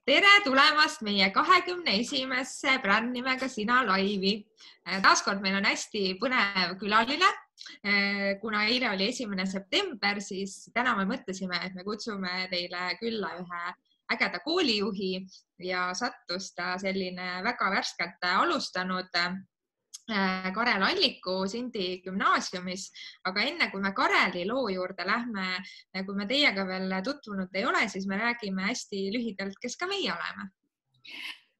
tere tulemast meie 21. brändnimega Sina laivi. Taaskord meil on hästi põnev külaline. Kuna eile oli 1. september, siis täna me mõtlesime, et me kutsume teile külla ühe ägeda koolijuhi ja sattus ta selline väga värskelt alustanud Karel Alliku Sindi gümnaasiumis, aga enne kui me Kareli loo juurde lähme, kui me teiega veel tutvunud ei ole, siis me räägime hästi lühidalt, kes ka meie oleme.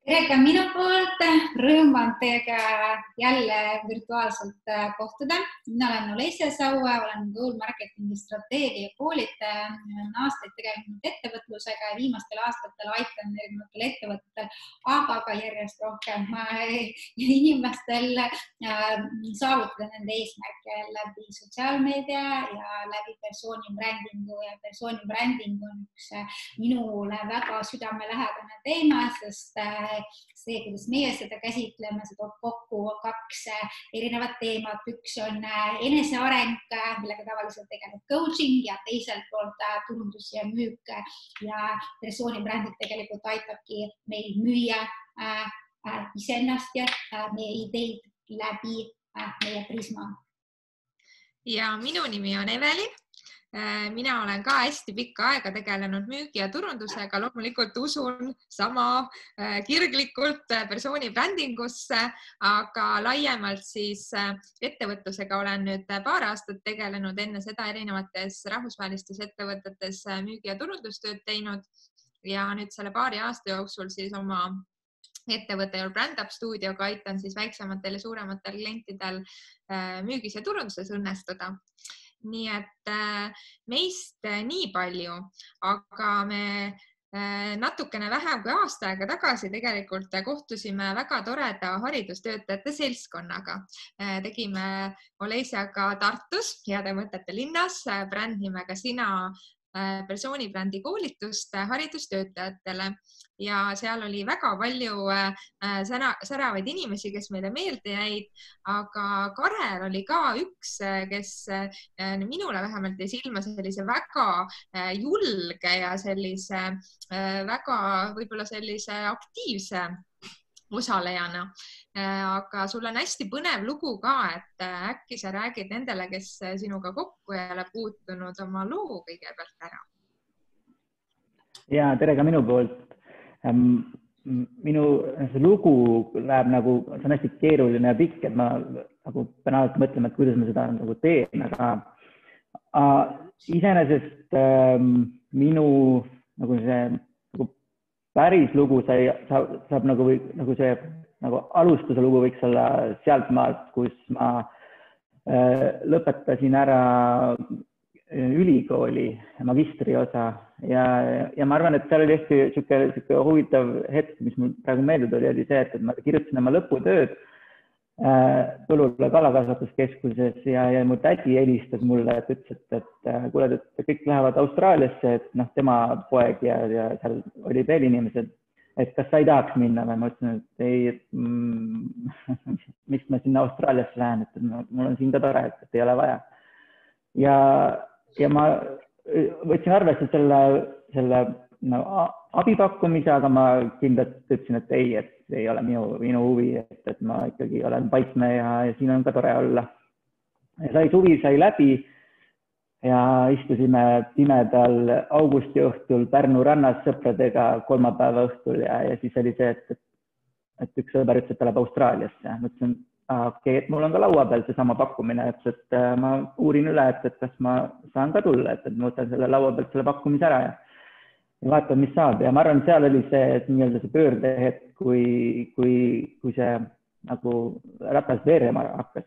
Tere ka minu poolt, rõõm on teiega jälle virtuaalselt kohtuda. Mina olen Olesja Saue, olen Goal Marketingi strateegia ja koolitaja. Olen aastaid tegelenud ettevõtlusega ja viimastel aastatel aitan erinevatel ettevõtetel, aga ka järjest rohkem inimestel saavutada nende eesmärke läbi sotsiaalmeedia ja läbi persoonibrändingu. Ja persoonibränding on üks minule väga südamelähedane teema, sest see, kuidas meie seda käsitleme, see toob kokku kaks erinevat teemat. Üks on eneseareng, millega tavaliselt tegeleb coaching ja teiselt poolt turundus ja müük ja persoonibränding tegelikult aitabki meil müüa iseennast ja meie ideid läbi meie prisma. Ja minu nimi on Evelin. Mina olen ka hästi pikka aega tegelenud müügi ja turundusega, loomulikult usun sama kirglikult persoonibrändingusse, aga laiemalt siis ettevõtlusega olen nüüd paar aastat tegelenud, enne seda erinevates rahvusvahelistes ettevõtetes müügi ja turundustööd teinud ja nüüd selle paari aasta jooksul siis oma ettevõtte ja Brand Up Studioga aitan siis väiksematel ja suurematel klientidel müügis ja turunduses õnnestuda. Nii et meist nii palju, aga me natukene vähem kui aasta aega tagasi tegelikult kohtusime väga toreda haridustöötajate seltskonnaga. Tegime Olesjaga Tartus, heade mõtete linnas, brändnimega Sina persoonibrändi koolitust haridustöötajatele ja seal oli väga palju säravaid inimesi, kes meile meelde jäid, aga Karel oli ka üks, kes minule vähemalt jäi silma sellise väga julge ja sellise väga võib-olla sellise aktiivse osalejana. Aga sul on hästi põnev lugu ka, et äkki sa räägid nendele, kes sinuga kokku ei ole puutunud, oma loo kõigepealt ära. Ja tere ka minu poolt. Minu lugu läheb nagu, see on hästi keeruline ja pikk, et ma nagu pean alati mõtlema, et kuidas ma seda nagu teen, aga iseenesest minu nagu see nagu päris lugu saab nagu see nagu alustuse lugu võiks olla sealt maalt, kus ma lõpetasin ära ülikooli magistriosa ja ma arvan, et seal oli hästi siuke huvitav hetk, mis mul praegu meelde tuli, oli see, et ma kirjutasin oma lõputööd Tulula kalakasvatuskeskuses ja mu tädi helistas mulle, et ütles, et kuule, et kõik lähevad Austraaliasse, et tema poeg ja seal oli veel inimesed, et kas sa ei tahaks minna või ma ütlesin, et ei, et miks ma sinna Austraaliasse lähen, et mul on siin ka tore, et ei ole vaja. Ja ma võtsin arvesse selle abipakkumise, aga ma kindlasti ütlesin, et ei ole minu huvi, et ma ikkagi olen paikne ja siin on ka tore olla. Ja suvi sai läbi ja istusime pimedal augusti õhtul Pärnu rannas sõpradega kolmapäeva õhtul ja siis oli see, et üks sõber ütles, et ta läheb Austraaliasse. Mõtlesin, okei, et mul on ka laua peal seesama pakkumine, et ma uurin üle, et kas ma saan ka tulla, et ma võtan selle laua pealt selle pakkumise ära ja vaatan, mis saab. Ja ma arvan, seal oli see nii-öelda see pöördehetk, kui see nagu ratas veerema hakkas.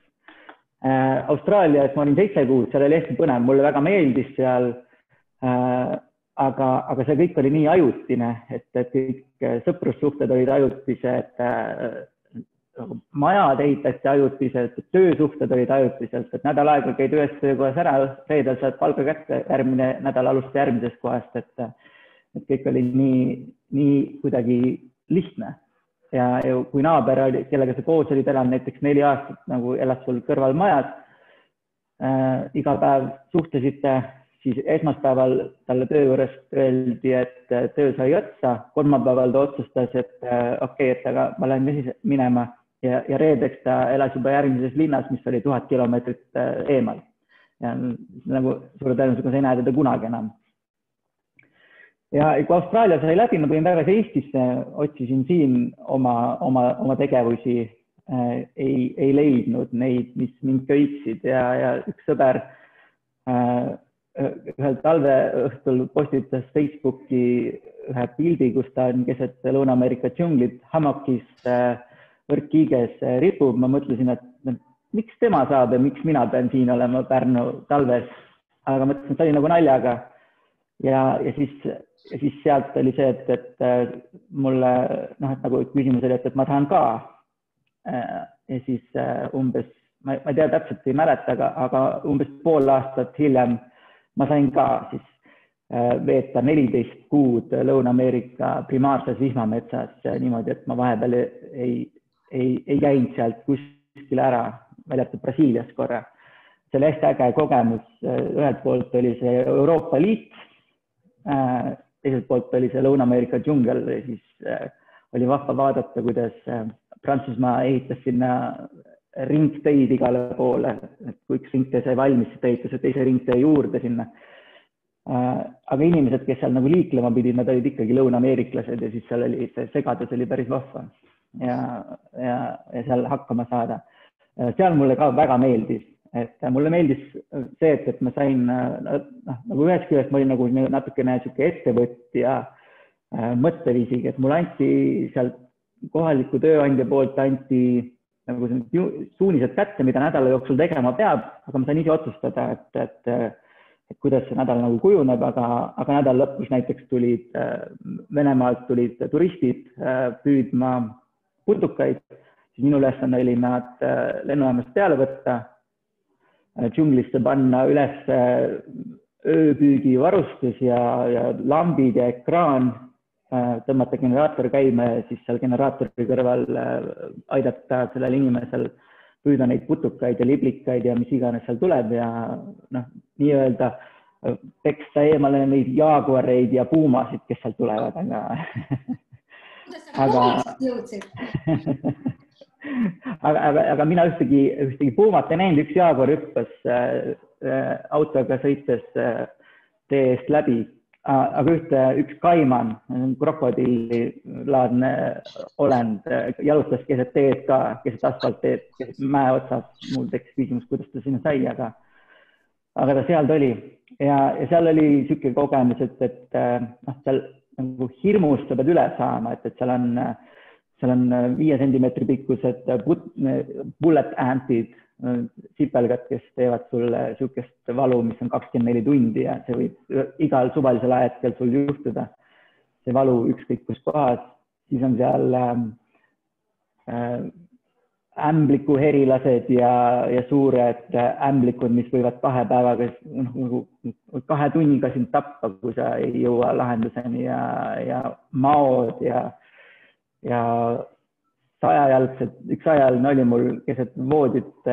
Austraalias ma olin 7 kuud, seal oli hästi põnev, mulle väga meeldis seal, aga see kõik oli nii ajutine, et kõik sõprussuhted olid ajutised, majad ehitati ajutiselt, töösuhted olid ajutiselt, et nädal aega käid ühes töökohas ära, reedel saad palga kätte, järgmine nädal alustada järgmisest kohast, et kõik oli nii kuidagi lihtne. Ja kui naaber oli, kellega sa koos olid elanud näiteks 4 aastat, nagu elas sul kõrval majad, iga päev suhtlesite, siis esmaspäeval talle töö juurest öeldi, et töö sai otsa, kolmapäeval ta otsustas, et okei, et aga ma lähen minema ja reedeks ta elas juba järgmises linnas, mis oli 1000 kilomeetrit eemal. Ja nagu suure tõenäosusega sa ei näe teda kunagi enam. Ja kui Austraalia sai läbi, ma tulin tagasi Eestisse, otsisin siin oma tegevusi, ei leidnud neid, mis mind köitsid ja üks sõber ühel talveõhtul postitas Facebooki ühe pildi, kus ta on keset Lõuna-Ameerika džunglit hamakis võrkkiiges ripub. Ma mõtlesin, et miks tema saab ja miks mina pean siin olema Pärnu talves, aga mõtlesin, et ta oli nagu naljaga. Ja siis sealt oli see, et mulle, et nagu küsimus oli, et ma tahan ka. Ja siis umbes, ma ei tea täpselt, ei mäleta, aga umbes pool aastat hiljem ma sain ka siis veeta 14 kuud Lõuna-Ameerika primaarses vihmametsas niimoodi, et ma vahepeal ei käinud sealt kuskile ära, väljatud Brasiilias korra. See oli hästi äge kogemus. Ühelt poolt oli see Euroopa Liit, teiselt poolt oli see Lõuna-Ameerika džungel ja siis oli vahva vaadata, kuidas Prantsusmaa ehitas sinna ringteid igale poole, et kui üks ringtee sai valmis, siis ta ehitas teise ringtee juurde sinna. Aga inimesed, kes seal nagu liiklema pidid, nad olid ikkagi lõuna-ameeriklased ja siis seal oli see segadus oli päris vahva ja seal hakkama saada. Seal mulle ka väga meeldis, et mulle meeldis see, et ma sain, nagu ühest küljest ma olin nagu natukene sihuke ettevõtja mõtteviisiga, et mulle anti seal kohaliku tööandja poolt anti nagu suunised kätte, mida nädala jooksul tegema peab, aga ma sain ise otsustada, et kuidas see nädal nagu kujuneb, aga nädal lõpus näiteks tulid Venemaalt tulid turistid püüdma putukaid, siis minu ülesanne oli nad lennujaamast peale võtta, džunglisse panna üles ööpüügivarustus ja lambid ja ekraan, tõmmata generaator käima ja siis seal generaatori kõrval aidata sellel inimesel püüda neid putukaid ja liblikaid ja mis iganes seal tuleb ja nii-öelda peksta eemale neid jaaguareid ja puumasid, kes seal tulevad, aga mina ühtegi puumat ei näinud, üks jaaguar hüppas autoga sõites tee eest läbi. Aga üks kaiman, krokodillilaadne olend, jalutas keset teed ka, keset asfaltteed, keset mäe otsas. Mul tekkis küsimus, kuidas ta sinna sai, aga ta seal oli. Ja seal oli siuke kogemus, et seal nagu hirmust sa pead üle saama, et seal on 5 sentimeetri pikkused bullet ant'id, sipelgad, kes teevad sulle siukest valu, mis on 24 tundi ja see võib igal suvalisel ajahetkel sul juhtuda. See valu ükskõik kus kohas, siis on seal ämbliku herilased ja suured ämblikud, mis võivad 2 päevaga, 2 tunniga sind tappa, kui sa ei jõua lahenduseni ja maod ja 100-jalgsed, üks 100-jalgne oli mul keset voodit,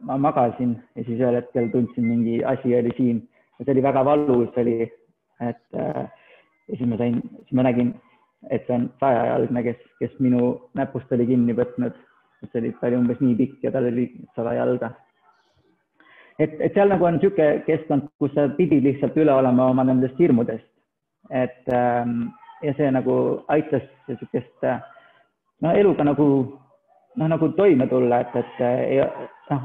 ma magasin ja siis ühel hetkel tundsin mingi asi oli siin ja see oli väga valus oli, et ja siis ma nägin, et see on 100-jalgne, kes minu näpust oli kinni võtnud, et see oli umbes nii pikk ja tal oli 100 jalga. Et seal nagu on siuke keskkond, kus sa pidid lihtsalt üle olema oma nendest hirmudest, et ja see nagu aitas siukest eluga nagu toime tulla, et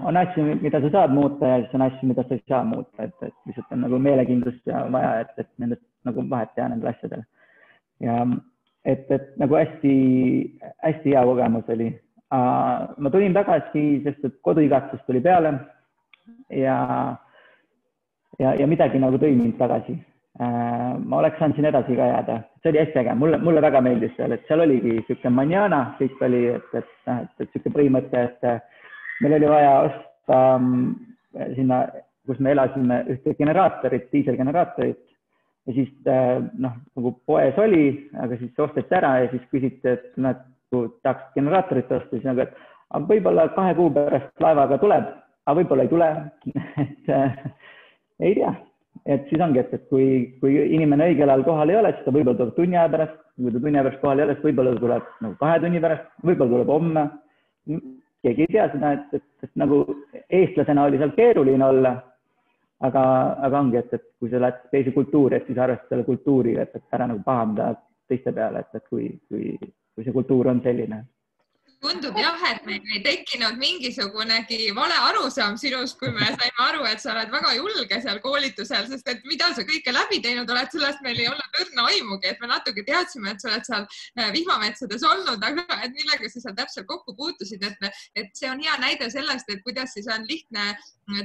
on asju, mida sa saad muuta ja siis on asju, mida sa ei saa muuta, et lihtsalt on nagu meelekindlust ja vaja, et nendest nagu vahet teha nendel asjadel. Ja et nagu hästi hea kogemus oli. Ma tulin tagasi, sest et koduigatsus tuli peale ja midagi nagu tõi mind tagasi. Ma oleks saanud siin edasi ka jääda. See oli hästi äge. Mulle väga meeldis seal, et seal oligi siuke manjana, kõik oli, et siuke põhimõte, et meil oli vaja osta sinna, kus me elasime ühte generaatorit, diiselgeneraatorit ja siis nagu poes oli, aga siis osteti ära ja siis küsiti, et tahaks generaatorit osta, siis nagu, et võib-olla 2 kuu pärast laevaga tuleb, aga võib-olla ei tule, et ei tea. et siis ongi, et kui inimene õigel ajal kohal ei ole, siis ta võib-olla tuleb tunni aja pärast, kui ta tunni aja pärast kohal ei ole, siis võib-olla tuleb nagu 2 tunni pärast, võib-olla tuleb homme. Keegi ei tea seda, et nagu eestlasena oli seal keeruline olla, aga ongi, et kui sa lähed teise kultuuri, et siis arvestad selle kultuuriga, et ära nagu pahamda teiste peale, et kui see kultuur on selline. Tundub jah, et meil ei tekkinud mingisugunegi vale arusaam sinust, kui me saime aru, et sa oled väga julge seal koolitusel, sest et mida sa kõike läbi teinud oled, sellest meil ei olnud õrna aimugi, et me natuke teadsime, et sa oled seal vihmametsades olnud, aga et millega sa seal täpselt kokku puutusid, et see on hea näide sellest, et kuidas siis on lihtne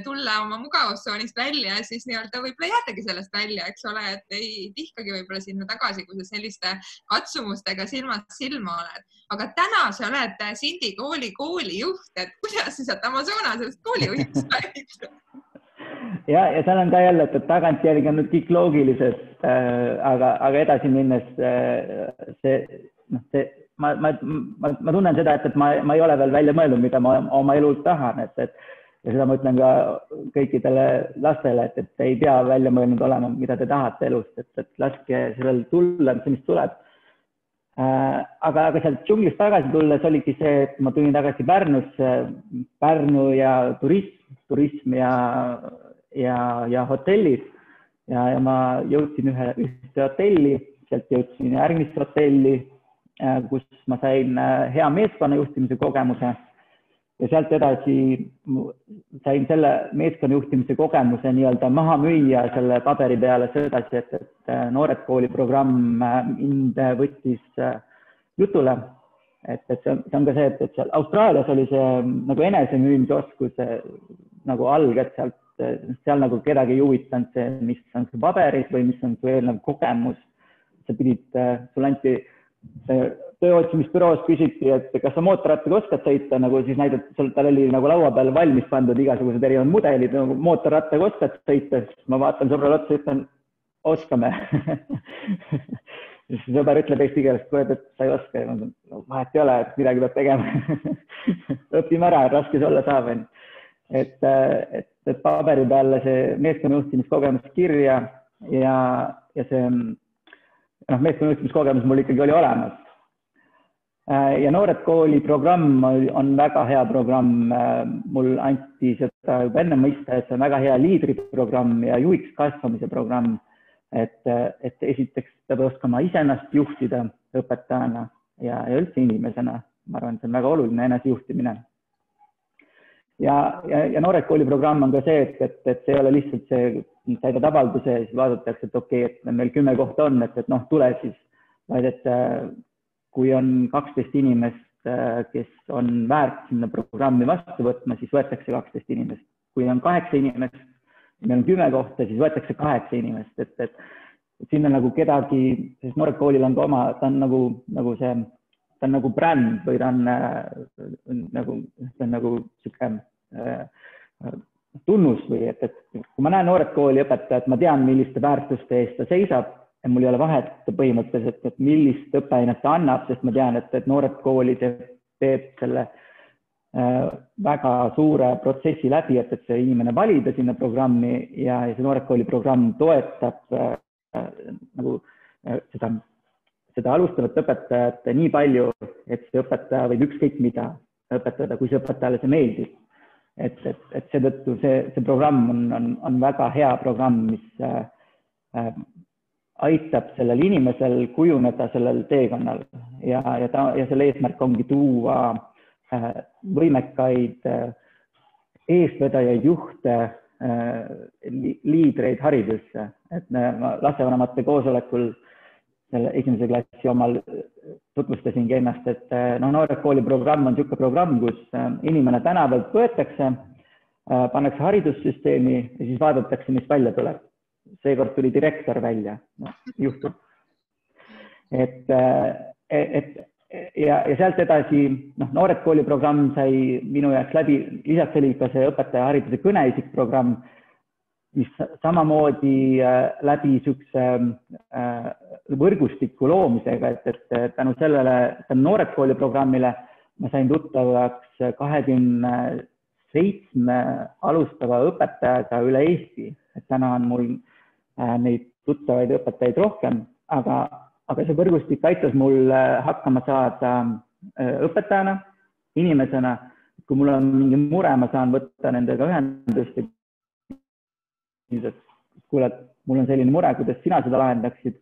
tulla oma mugavustsoonist välja ja siis nii-öelda võib-olla jäädagi sellest välja, eks ole, et ei tihkagi võib-olla sinna tagasi, kui sa selliste katsumustega silmast silma oled. Aga täna sa oled Sindi koolijuht, et kuidas sa sealt Amazonasest koolijuhiks lähed? Ja seal on ka jälle, et tagantjärgi on nüüd kõik loogilised, aga edasi minnes ma tunnen seda, et ma ei ole veel välja mõelnud, mida ma oma elult tahan, ja seda ma ütlen ka kõikidele lastele, et ei pea välja mõelnud olema, mida te tahate elust, et laske sellel tulla, mis tuleb. Aga sealt džunglist tagasi tulles oligi see, et ma tulin tagasi Pärnusse, Pärnu ja turism ja hotellid ja ma jõudsin ühte hotelli, sealt jõudsin järgmisse hotelli, kus ma sain hea meeskonna juhtimise kogemuse ja sealt edasi sain selle meeskonna juhtimise kogemuse nii-öelda maha müüa selle paberi peale sedasi, et Noored Kooli programm mind võttis jutule, et see on ka see, et seal Austraalias oli see nagu enesemüümise oskus nagu alg, et seal nagu kedagi ei huvitanud see, mis on su paberid või mis on su eelnev kogemus. Sa pidid, sul anti tööotsimisbüroos küsiti, et kas sa mootorrattaga oskad sõita, nagu siis näidati, tal oli nagu laua peal valmis pandud igasugused erinevad mudelid, nagu mootorrattaga oskad sõita, siis ma vaatan sõbrale otsa ja ütlen, oskame. Siis sõber ütleb eesti keeles, et sa ei oska ja vahet ei ole, et midagi peab tegema. Õpime ära, raske see olla saab. Et paberi peale see meeskonnajuhtimiskogemus kirja ja see meeskonnajuhtimiskogemus mul ikkagi oli olemas. Ja Noored Kooli programm on väga hea programm. Mul anti seda juba enne mõista, et see on väga hea liidriprogramm ja juhiks kasvamise programm. Et esiteks peab oskama iseennast juhtida õpetajana ja üldse inimesena. Ma arvan, see on väga oluline enesejuhtimine. Ja Noored Kooli programm on ka see, et see ei ole lihtsalt see, täidad avalduse ja siis vaadatakse, et okei, et meil 10 kohta on, et tule siis, vaid et kui on 12 inimest, kes on väärt sinna programmi vastu võtma, siis võetakse 12 inimest. Kui on 8 inimest, meil on 10 kohta, siis võetakse 8 inimest, et sinna nagu kedagi, sest Noored Koolil on ka oma, ta on nagu bränd või ta on nagu siuke tunnus või, et kui ma näen Noored Kooli õpetajat, ma tean, milliste väärtuste eest ta seisab ja mul ei ole vahet põhimõtteliselt, et millist õppeainet ta annab, sest ma tean, et Noored Kooli teeb selle väga suure protsessi läbi, et see inimene valida sinna programmi ja see Noored Kooli programm toetab nagu seda alustavat õpetajat nii palju, et see õpetaja võib ükskõik mida õpetada, kui see õpetajale see meeldib. Et seetõttu see programm on väga hea programm, mis aitab sellel inimesel kujuneda sellel teekonnal ja selle eesmärk ongi tuua võimekaid eestvedajaid juhte, liidreid haridusse. Et lastevanemate koosolekul selle 1. klassi omal tutvustasingi ennast, et Noored Kooli programm on niisugune programm, kus inimene tänavalt võetakse, pannakse haridussüsteemi ja siis vaadatakse, mis välja tuleb. Seekord tuli direktor välja, juhtub. Ja sealt edasi, Noored Kooli programm sai minu jaoks läbi, lisaks oli ka see õpetaja hariduse kõneisik programm, mis samamoodi läbi niisuguse võrgustiku loomisega, et tänu sellele Noored Kooli programmile ma sain tuttavaks 27 alustava õpetajaga üle Eesti. Et täna on mul neid tuttavaid õpetajaid rohkem, aga see võrgustik aitas mul hakkama saada õpetajana, inimesena. Kui mul on mingi mure, ma saan võtta nendega ühendust, et kuule, mul on selline mure, kuidas sina seda lahendaksid.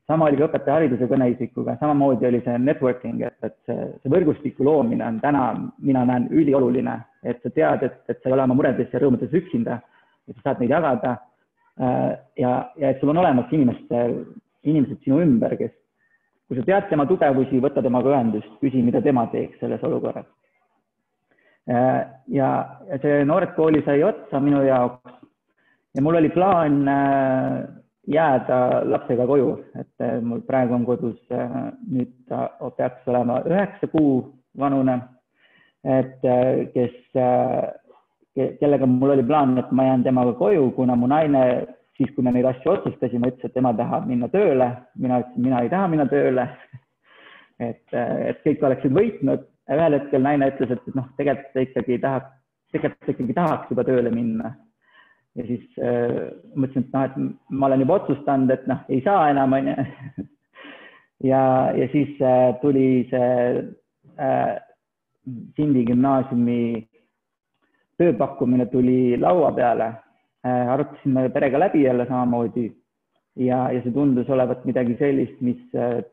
Sama oli ka õpetaja hariduse kõneisikuga, samamoodi oli see networking, et see võrgustiku loomine on täna, mina näen ülioluline, et sa tead, et sa ei ole oma muredes ja rõõmudes üksinda, et sa saad neid jagada ja et sul on olemas inimesed sinu ümber, kes, kui sa tead tema tugevusi, võta temaga ühendust, küsi, mida tema teeks selles olukorras. Ja see Noored Kooli sai otsa minu jaoks ja mul oli plaan jääda lapsega koju, et mul praegu on kodus, nüüd ta peaks olema 9 kuu vanune, et kellega mul oli plaan, et ma jään temaga koju, kuna mu naine, siis kui me neid asju otsustasime, ütles, et tema tahab minna tööle, mina ütlesin, mina ei taha minna tööle, et kõik oleksid võitnud. Ühel hetkel naine ütles, et tegelikult ikkagi tahaks juba tööle minna. Ja siis mõtlesin, et ma olen juba otsustanud, et ei saa enam. Ja siis tuli see Sindi gümnaasiumi tööpakkumine tuli laua peale. Arutasime perega läbi jälle samamoodi ja see tundus olevat midagi sellist, mis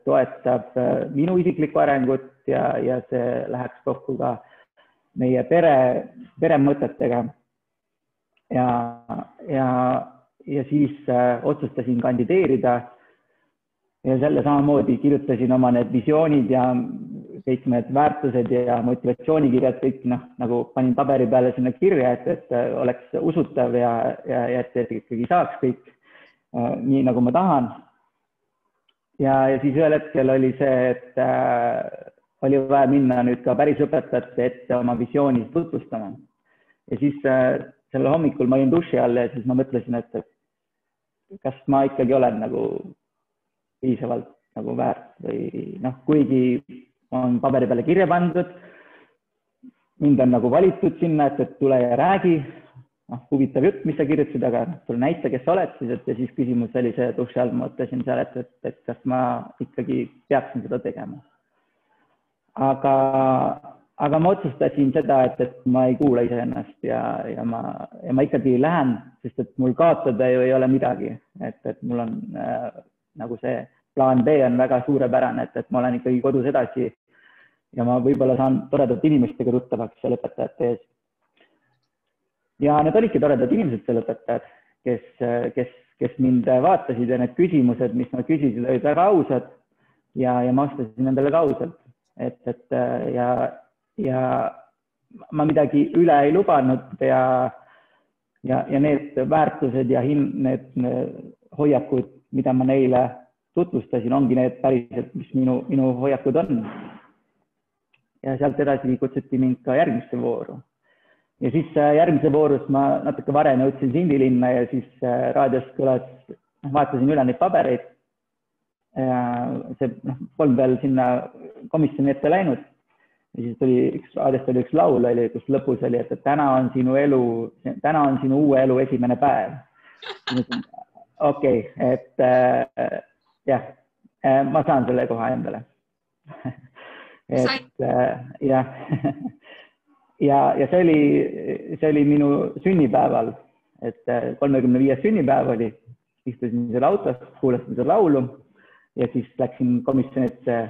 toetab minu isiklikku arengut ja see läheks kokku ka meie pere mõtetega. Ja siis otsustasin kandideerida ja selle samamoodi kirjutasin oma need visioonid ja kõik need väärtused ja motivatsioonikirjad, kõik nagu panin paberi peale sinna kirja, et oleks usutav ja et ikkagi saaks kõik nii, nagu ma tahan. Ja siis ühel hetkel oli see, et oli vaja minna nüüd ka päris õpetajate ette oma visiooni tutvustama. Ja siis selle hommikul ma olin duši all ja siis ma mõtlesin, et kas ma ikkagi olen nagu piisavalt nagu väärt või kuigi on paberi peale kirja pandud, mind on nagu valitud sinna, et tule ja räägi, huvitav jutt, mis sa kirjutasid, aga tule näita, kes sa oled siis, ja siis küsimus oli see duši all, ma mõtlesin seal, et kas ma ikkagi peaksin seda tegema. Aga ma otsustasin seda, et ma ei kuula iseennast ja ma ikkagi lähen, sest et mul kaotada ju ei ole midagi, et mul on nagu see plaan B on väga suurepärane, et ma olen ikkagi kodus edasi ja ma võib-olla saan toredate inimestega tuttavaks seal õpetajate ees. Ja need olidki toredad inimesed seal õpetajad, kes mind vaatasid ja need küsimused, mis nad küsisid, olid väga ausad ja ma vastasin nendele ka ausalt. Ja ma midagi üle ei lubanud ja need väärtused ja need hoiakud, mida ma neile tutvustasin, ongi need päriselt, mis minu hoiakud on. Ja sealt edasi kutsuti mind ka järgmisse vooru. Ja siis järgmise voorus ma natuke varem jõudsin Sindi linna ja siis raadios kõlas, vaatasin üle neid pabereid. See polnud veel sinna komisjoni ette läinud. Ja siis raadiost oli üks laul, kus lõpus oli, et täna on sinu uue elu esimene päev. Okei, et jah, ma saan selle koha endale. Ja see oli minu sünnipäeval, et 35. sünnipäev oli, istusin selle autos, kuulasin seda laulu ja siis läksin komisjonisse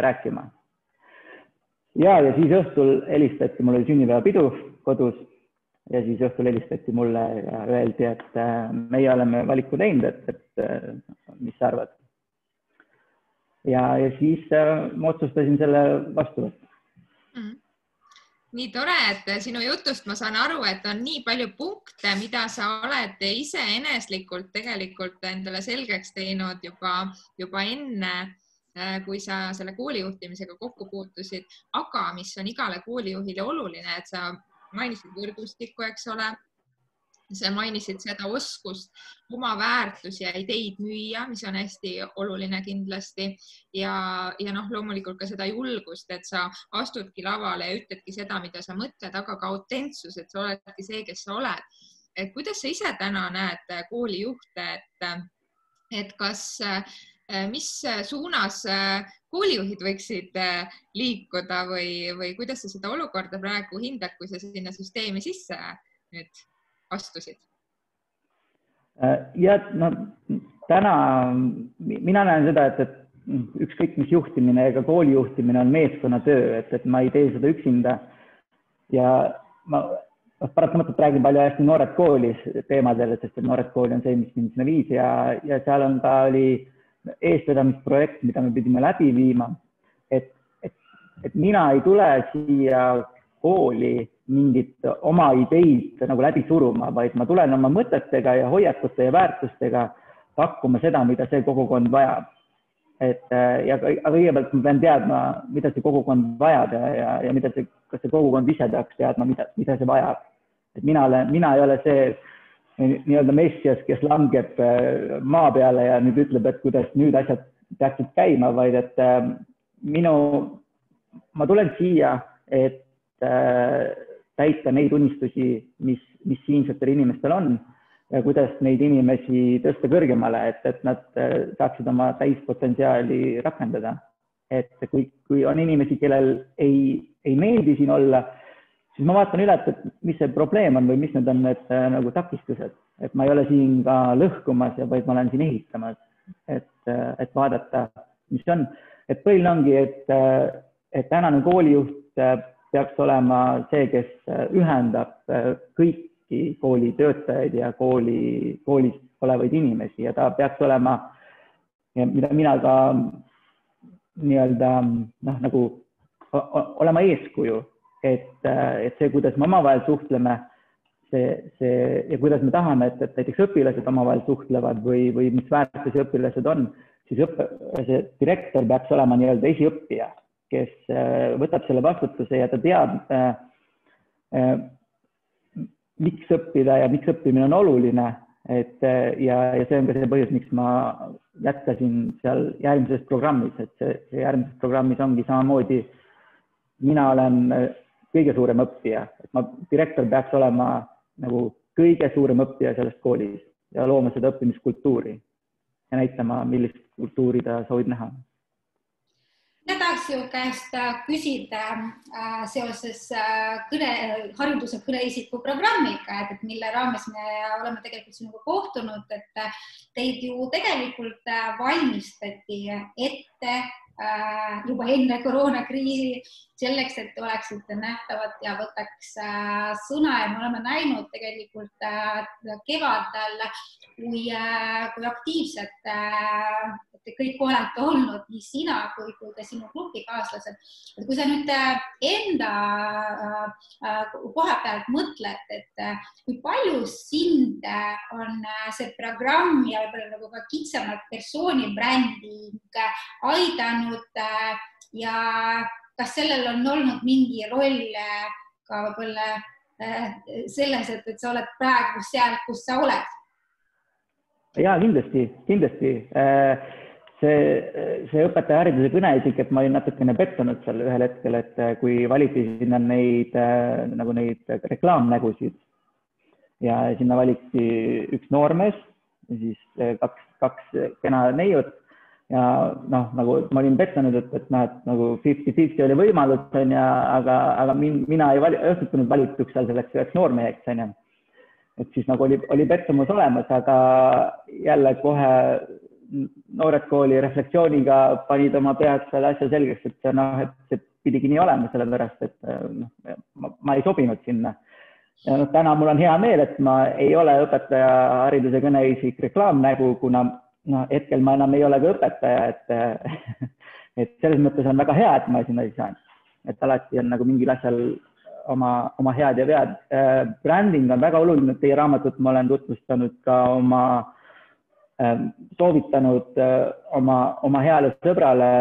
rääkima. Ja siis õhtul helistati, mul oli sünnipäevapidu kodus ja siis õhtul helistati mulle ja öeldi, et meie oleme valiku teinud, et mis sa arvad. Ja siis ma otsustasin selle vastu võtta. Nii tore, et sinu jutust ma saan aru, et on nii palju punkte, mida sa oled ise eneslikult tegelikult endale selgeks teinud juba enne, kui sa selle koolijuhtimisega kokku puutusid, aga mis on igale koolijuhile oluline, et sa mainisid võrgustikku, eks ole, sa mainisid seda oskust oma väärtusi ja ideid müüa, mis on hästi oluline kindlasti ja loomulikult ka seda julgust, et sa astudki lavale ja ütledki seda, mida sa mõtled, aga ka autentsus, et sa oledki see, kes sa oled. kuidas sa ise täna näed koolijuhte, et kas, mis suunas koolijuhid võiksid liikuda või kuidas sa seda olukorda praegu hindad, kui sa sinna süsteemi sisse nüüd astusid? Ja no täna mina näen seda, et ükskõik mis juhtimine ega kooli juhtimine on meeskonnatöö, et ma ei tee seda üksinda ja ma paratamatult räägin palju hästi noored koolis teemadel, sest noored kooli on see, mis mind sinna viis ja seal on ka oli eestvedamisprojekt, mida me pidime läbi viima, et mina ei tule siia kooli mingit oma ideid nagu läbi suruma, vaid ma tulen oma mõtetega ja hoiakute ja väärtustega pakkuma seda, mida see kogukond vajab. Ja kõigepealt ma pean teadma, mida see kogukond vajab ja kas see kogukond ise peaks teadma, mida see vajab. Et mina ei ole see nii-öelda messias, kes langeb maa peale ja nüüd ütleb, et kuidas nüüd asjad peaksid käima, vaid et ma tulen siia, et täita neid unistusi, mis siinsetel inimestel on ja kuidas neid inimesi tõsta kõrgemale, et nad saaksid oma täispotentsiaali rakendada. Et kui on inimesi, kellel ei meeldi siin olla, siis ma vaatan üle, et mis see probleem on või mis need on need nagu takistused. Et ma ei ole siin ka lõhkumas, vaid ma olen siin ehitamas, et vaadata, mis on. Et põhiline ongi, et tänane koolijuht peaks olema see, kes ühendab kõiki kooli töötajaid ja koolis olevaid inimesi ja ta peaks olema, mida mina ka nii-öelda nagu olema eeskuju, et see, kuidas me omavahel suhtleme ja kuidas me tahame, et näiteks õpilased omavahel suhtlevad või mis väärtusi õpilased on, siis see direktor peaks olema nii-öelda esiõppija, kes võtab selle vastutuse ja ta teab, miks õppida ja miks õppimine on oluline. Ja see on ka see põhjus, miks ma jätkasin seal järgmises programmis, et see järgmises programmis ongi samamoodi, mina olen kõige suurem õppija, et direktor peaks olema nagu kõige suurem õppija sellest koolis ja looma seda õppimiskultuuri ja näitama, millist kultuuri ta soovib näha. Mina tahaks ju käest küsida seoses hariduse kõneisiku programmiga, et mille raames me oleme tegelikult sinuga kohtunud, et teid ju tegelikult valmistati ette juba enne koroonakriisi selleks, et oleksite nähtavad ja võtaks sõna ja me oleme näinud tegelikult kevadel, kui aktiivsed te kõik olete olnud, nii sina kui ka sinu grupikaaslased. Et kui sa nüüd enda koha pealt mõtled, et kui palju sind on see programm ja võib-olla nagu ka kitsamalt persoonibränding aidanud ja kas sellel on olnud mingi roll ka võib-olla selles, et sa oled praegu seal, kus sa oled? Ja, kindlasti. See õpetajahariduse kõneisik, et ma olin natukene pettunud seal ühel hetkel, et kui valiti sinna neid reklaamnägusid ja sinna valiti üks noormees ja siis kaks kena neiut ja nagu ma olin pettunud, et nagu 50-50 oli võimalus, aga mina ei õhtunud valituks seal selleks üheks noormeheks, et siis nagu oli pettumus olemas, aga jälle kohe noored kooli reflektsiooniga panid oma pead selle asja selgeks, et see pidigi nii olema, sellepärast, et ma ei sobinud sinna. Ja täna mul on hea meel, et ma ei ole õpetajahariduse kõneisik reklaamnägu, kuna hetkel ma enam ei ole ka õpetaja, et selles mõttes on väga hea, et ma sinna ei saanud. Et alati on nagu mingil asjal oma head ja vead. Branding on väga oluline, teie raamatut ma olen tutvustanud ka soovitanud oma heale sõbrale,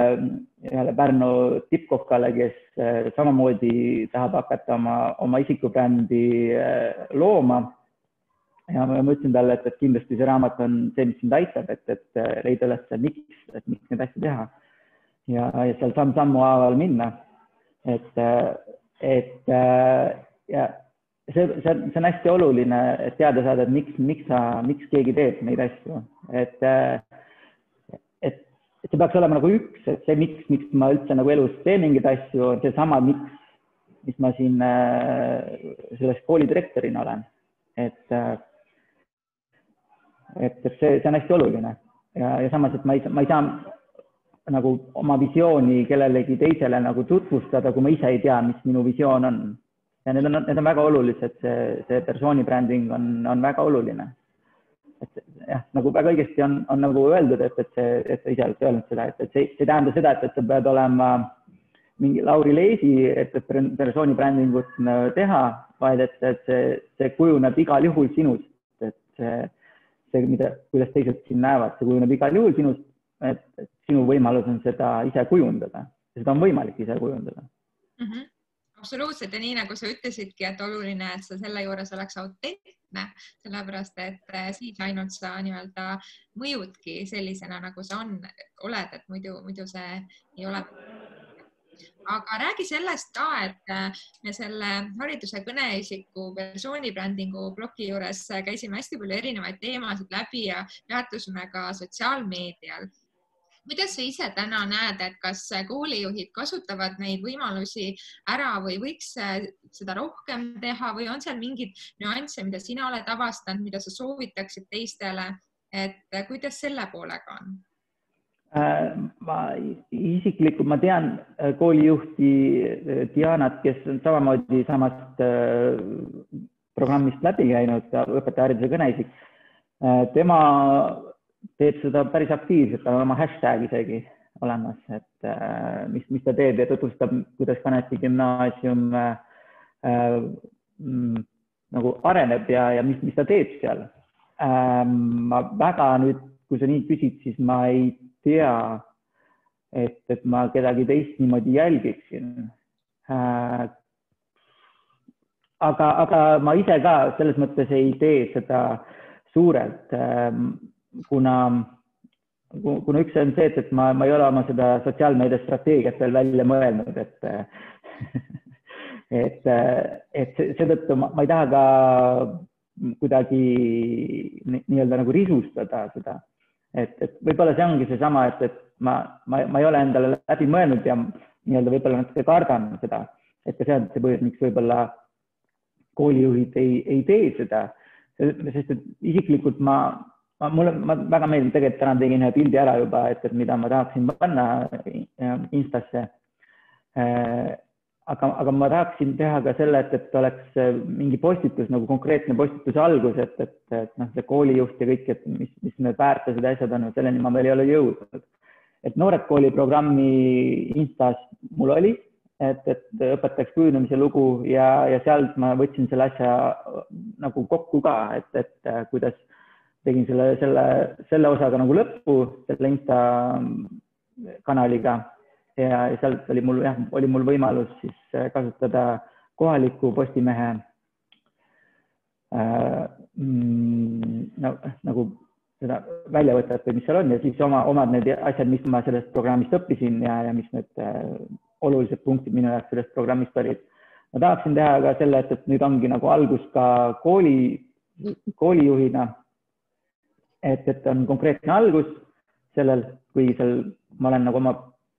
Pärnu tippkokkale, kes samamoodi tahab hakata oma isikubrändi looma. Ja ma ütlesin talle, et kindlasti see raamat on see, mis sind aitab, et leida üles miks neid asju teha ja seal sammu haaval minna. Ja see on hästi oluline, et teada saada, et miks keegi teeb neid asju, et see peaks olema nagu üks, et see miks ma üldse nagu elus teen mingeid asju, on seesama, mis ma siin selles koolidirektorina olen. Et see on hästi oluline ja samas, et ma ei saa nagu oma visiooni kellelegi teisele nagu tutvustada, kui ma ise ei tea, mis minu visioon on. Ja need on väga olulised, see persooni bränding on väga oluline. Et jah, nagu väga õigesti on nagu öeldud, et sa ise oled öelnud seda, et see tähendab seda, et sa pead olema mingi Lauri Leesi, et persooni brändingut teha, vaid et see kujuneb igal juhul sinust, et see, kuidas teised siin näevad, see kujuneb igal juhul sinust, et sinu võimalus on seda ise kujundada. Seda on võimalik ise kujundada. Absoluutselt ja nii nagu sa ütlesidki, et oluline, et sa selle juures oleks autentne, sellepärast et siis ainult sa nii-öelda mõjudki sellisena, nagu sa oled, et muidu see ei ole. Aga räägi sellest ka, et me selle hariduse kõneisiku persoonibrändingu bloki juures käisime hästi palju erinevaid teemasid läbi ja peatusime ka sotsiaalmeedial. Kuidas sa ise täna näed, et kas koolijuhid kasutavad neid võimalusi ära või võiks seda rohkem teha või on seal mingid nüansse, mida sina oled avastanud, mida sa soovitaksid teistele, et kuidas selle poolega on? Ma isiklikult, ma tean koolijuhti Dianat, kes on samamoodi samast programmist läbi käinud, õpetajahariduse kõneisik. Tema teeb seda päris aktiivselt, on oma hashtag isegi olemas, et mis ta teeb ja tutvustab, kuidas Kanepi gümnaasium nagu areneb ja mis ta teeb seal. Ma väga nüüd, kui sa nii küsid, siis ma ei tea, et ma kedagi teist niimoodi jälgiksin. Aga ma ise ka selles mõttes ei tee seda suurelt, kuna üks on see, et ma ei ole oma seda sotsiaalmeedia strateegiat veel välja mõelnud, et seetõttu ma ei taha ka kuidagi nii-öelda nagu risustada seda, et võib-olla see ongi seesama, et ma ei ole endale läbi mõelnud ja nii-öelda võib-olla natuke kardan seda, et ka see on see põhjus, miks võib-olla koolijuhid ei tee seda, sest et isiklikult ma väga meeldib, tegelikult täna tegin ühe pildi ära juba, et mida ma tahaksin panna Instasse. Aga ma tahaksin teha ka selle, et oleks mingi postitus, nagu konkreetne postituse algus, et see koolijuht ja kõik, et mis need väärtused ja asjad on, selleni ma veel ei ole jõudnud. Et Noored kooli programmi Instas mul oli, et õpetajaks kujunemise lugu ja sealt ma võtsin selle asja nagu kokku ka, et kuidas tegin selle osaga nagu lõppu, selle Insta kanaliga ja sealt oli mul võimalus siis kasutada kohaliku Postimehe nagu seda väljavõtet või mis seal on ja siis omad need asjad, mis ma sellest programmist õppisin ja mis need olulised punktid minu jaoks sellest programmist olid. Ma tahaksin teha ka selle, et nüüd ongi nagu algus ka koolijuhina, et on konkreetne algus sellel, kui ma olen nagu oma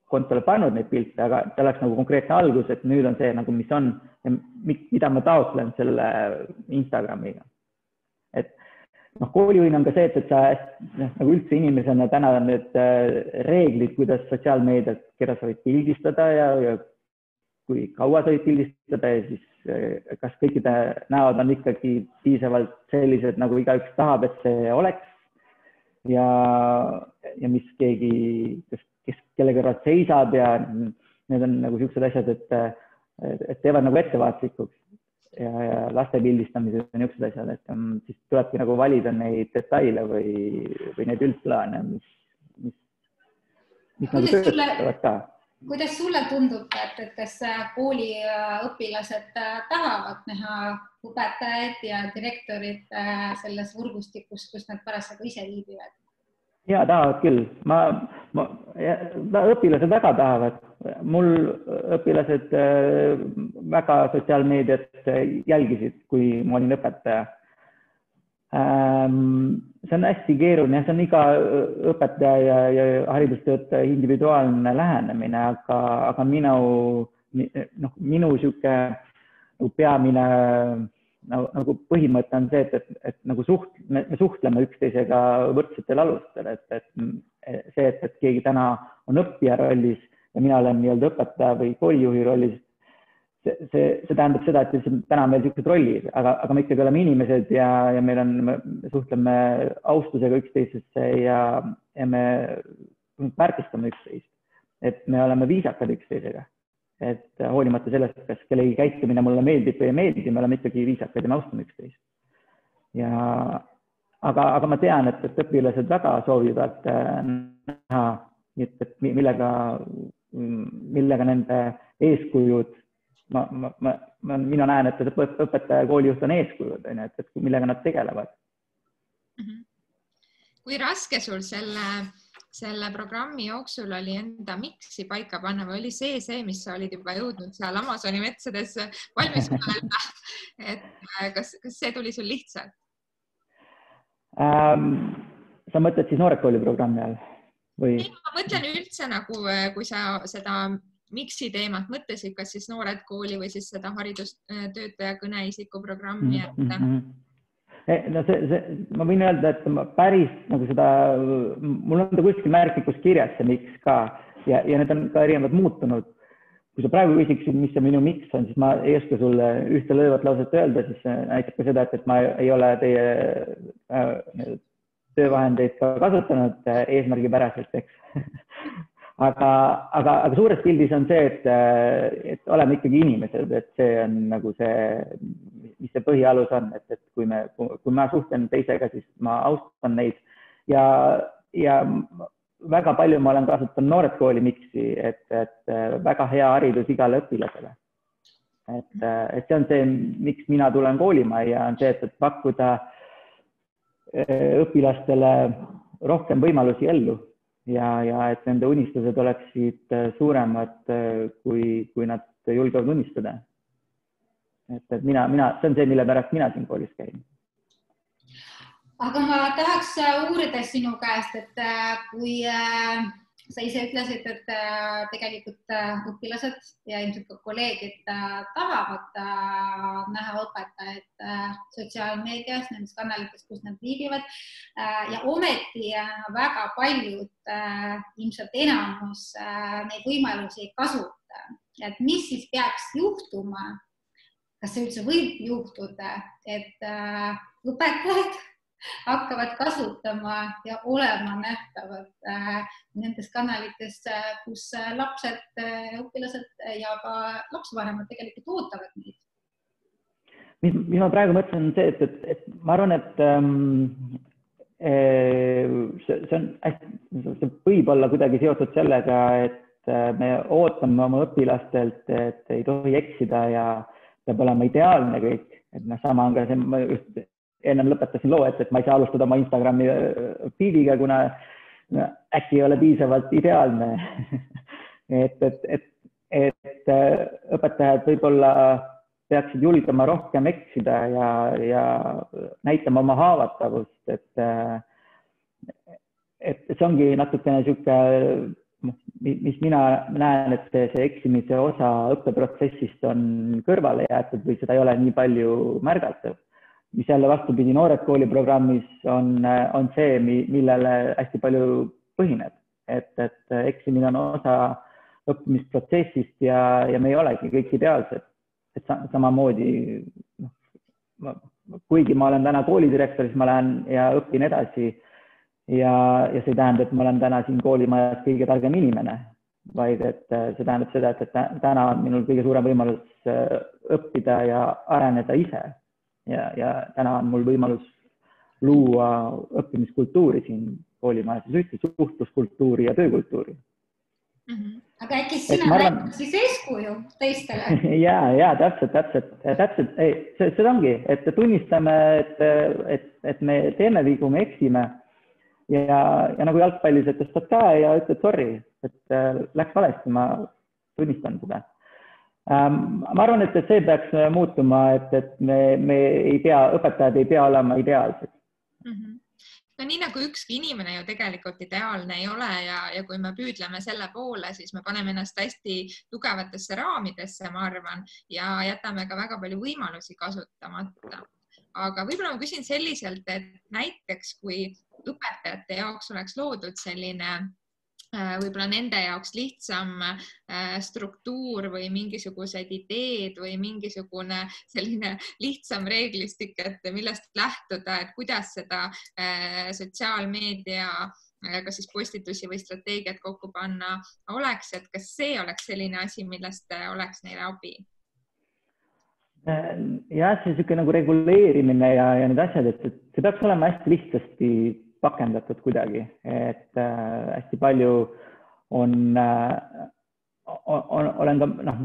kontole pannud neid pilte, aga see oleks nagu konkreetne algus, et nüüd on see nagu, mis on ja mida ma taotlen selle Instagramiga. Et koolijuhina on ka see, et sa nagu üldse inimesena täna on need reeglid, kuidas sotsiaalmeediat, keda sa võid pildistada ja kui kaua sa võid pildistada ja siis kas kõikide näod on ikkagi piisavalt sellised, nagu igaüks tahab, et see oleks. Ja mis keegi, kes kelle kõrval seisab ja need on nagu sellised asjad, et teevad nagu ettevaatlikuks ja laste pildistamised on sellised asjad, et siis tulebki nagu valida neid detaile või neid üldplaane, mis nagu töötavad ka. Kuidas sulle tundub, et kas kooliõpilased tahavad näha õpetajaid ja direktorid selles võrgustikus, kus nad parasjagu ise viibivad? Ja, tahavad küll. Õpilased väga tahavad. Mul õpilased väga sotsiaalmeediat jälgisid, kui ma olin õpetaja. See on hästi keeruline, see on iga õpetaja ja haridustöötaja individuaalne lähenemine, aga minu sihuke peamine nagu põhimõte on see, et nagu me suhtleme üksteisega võrdsetel alustel, et see, et keegi täna on õppija rollis ja mina olen nii-öelda õpetaja või koolijuhi rollis, see tähendab seda, et täna meil niisugused rollid, aga me ikkagi oleme inimesed ja me suhtleme austusega üksteisesse ja me väärtustame üksteist, et me oleme viisakad üksteisega, et hoolimata sellest, kas kellegi käitumine mulle meeldib või ei meeldi, me oleme ikkagi viisakad ja me austame üksteist. Aga ma tean, et õpilased väga soovivad näha, et millega nende eeskujud mina näen, et õpetaja koolijuht on eeskujud, et millega nad tegelevad. Kui raske sul selle programmi jooksul oli enda miksi paika panna või oli see, mis sa olid juba jõudnud seal Amazoni metsades valmis mõelda, et kas see tuli sul lihtsalt? Sa mõtled siis Noored Kooli programmi all? Ma mõtlen üldse nagu, kui sa seda miksi teemat mõtlesid, kas siis Noored Kooli või siis seda haridustöötaja kõneisiku programmi? No ma võin öelda, et päris nagu seda, mul on ta kuskil märklikus kirjas see miks ka ja need on ka erinevad muutunud. Kui sa praegu küsiksid, mis see minu miks on, siis ma ei oska sulle ühte lõivat lauset öelda, siis näitab ka seda, et ma ei ole teie töövahendeid ka kasutanud eesmärgipäraselt, eks. Aga suures pildis on see, et oleme ikkagi inimesed, et see on nagu see, mis see põhialus on, et kui ma suhtlen teisega, siis ma austan neid ja väga palju ma olen kasutanud Noored Kooli miksi, et väga hea haridus igale õpilasele. Et see on see, miks mina tulen koolimajja, on see, et pakkuda õpilastele rohkem võimalusi ellu. Ja et nende unistused oleksid suuremad, kui nad julgevad unistada. Et see on see, mille pärast mina siin koolis käin. Aga ma tahaks uurida sinu käest, et kui sa ise ütlesid, et tegelikult õpilased ja ilmselt ka kolleegid tahavad näha õpetajaid sotsiaalmeedias, nendes kanalites, kus nad viibivad ja ometi väga paljud, ilmselt enamus neid võimalusi ei kasuta. Et mis siis peaks juhtuma, kas see üldse võib juhtuda, et õpetajad hakkavad kasutama ja olema nähtavad nendes kanalites, kus lapsed, õpilased ja ka lapsevanemad tegelikult ootavad neid. Mis ma praegu mõtlen, on see, et ma arvan, et see võib olla kuidagi seotud sellega, et me ootame oma õpilastelt, et ei tohi eksida ja peab olema ideaalne kõik. Et sama on ka see, ma just ennem lõpetasin loo, et ma ei saa alustada oma Instagrami feediga, kuna äkki ei ole piisavalt ideaalne. et õpetajad võib-olla peaksid julgema rohkem eksida ja näitama oma haavatavust, et see ongi natukene sihuke, mis mina näen, et see eksimise osa õppeprotsessist on kõrvale jäetud või seda ei ole nii palju märgatav. Mis jälle vastupidi Noored Kooli programmis on see, millele hästi palju põhineb, et eksimine on osa õppimisprotsessist ja me ei olegi kõik ideaalsed. Et samamoodi, kuigi ma olen täna koolidirektor, siis ma lähen ja õpin edasi ja see ei tähenda, et ma olen täna siin koolimajas kõige targem inimene, vaid et see tähendab seda, et täna on minul kõige suurem võimalus õppida ja areneda ise. Ja täna on mul võimalus luua õppimiskultuuri siin koolimajas, suhtluskultuuri ja töökultuuri. Aga äkki sina näitad siis eeskuju teistele? Ja, täpselt. See ongi, et tunnistame, et me teeme vigu, me eksime ja nagu jalgpallis, et tõstad käe ja ütled sorry, et läks valesti, ma tunnistan seda. Ma arvan, et see peaks muutuma, et me ei pea, õpetajad ei pea olema ideaalsed. No nii nagu ükski inimene ju tegelikult ideaalne ei ole ja kui me püüdleme selle poole, siis me paneme ennast hästi tugevatesse raamidesse, ma arvan, ja jätame ka väga palju võimalusi kasutamata. Aga võib-olla ma küsin selliselt, et näiteks kui õpetajate jaoks oleks loodud selline võib-olla nende jaoks lihtsam struktuur või mingisugused ideed või mingisugune selline lihtsam reeglistik, et millest lähtuda, et kuidas seda sotsiaalmeedia kas siis postitusi või strateegiat kokku panna oleks, et kas see oleks selline asi, millest oleks neile abi? Jah, see niisugune nagu reguleerimine ja need asjad, et see peaks olema hästi lihtsasti pakendatud kuidagi, et hästi palju olen ka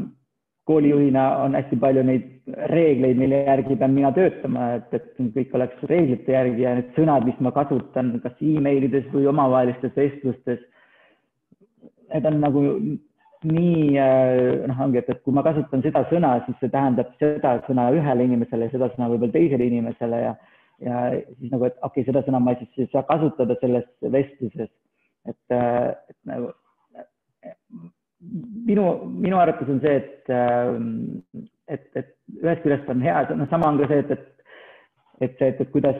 koolijuhina on hästi palju neid reegleid, mille järgi pean mina töötama, et kõik oleks reeglite järgi ja need sõnad, mis ma kasutan kas emailides või omavahelistes vestlustes, need on nagu nii, ongi, et kui ma kasutan seda sõna, siis see tähendab seda sõna ühele inimesele ja seda sõna võib-olla teisele inimesele ja siis nagu, et okei, seda sõna ma siis ei saa kasutada selles vestluses. Et nagu minu arvates on see, et ühest küljest on hea, sama on ka see, et kuidas